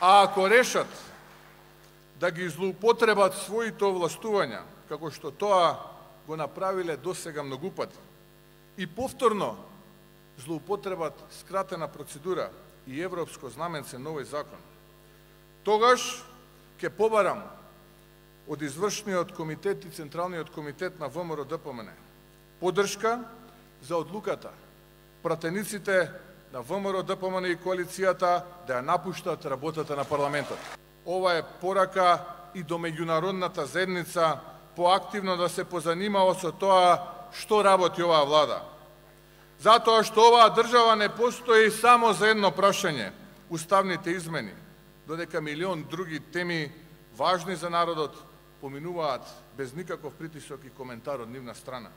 А ако решат да ги злоупотребат своите овластувања, како што тоа го направиле досега многу пати, и повторно злоупотребат скратена процедура и европско знаменце на овој закон, тогаш ќе побарам од извршниот комитет и Централниот комитет на ВМРО-ДПМН поддршка за одлуката пратениците на ВМРО-ДПМН и коалицијата да ја напуштат работата на парламентот. Ова е порака и до меѓународната заедница поактивно да се позанимава со тоа што работи оваа влада. Затоа што оваа држава не постои само за едно прашање – уставните измени, додека милион други теми важни за народот поминуваат без никаков притисок и коментар од нивна страна.